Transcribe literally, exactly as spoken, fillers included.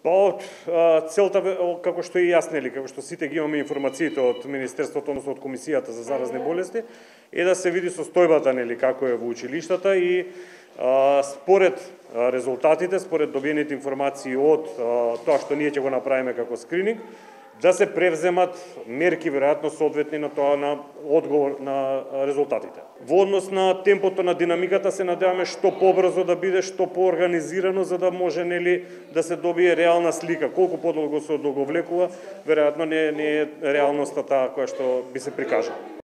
Па, целта, како што и јас, нели, како што сите ги имаме информациите од Министерството, односно од Комисијата за заразни болести, е да се види состојбата, нели, како е во училиштата и а, според резултатите, според добиените информации од а, тоа што ние ќе го направиме како скрининг, да се превземат мерки, веројатно соодветни на тоа, на одговор на резултатите. Во однос на темпото на динамиката се надеваме што побрзо да биде, што поорганизирано, за да може, нели, да се добие реална слика. Колку подолго се одоговлекува, веројатно не, не е реалноста таа која што би се прикажала.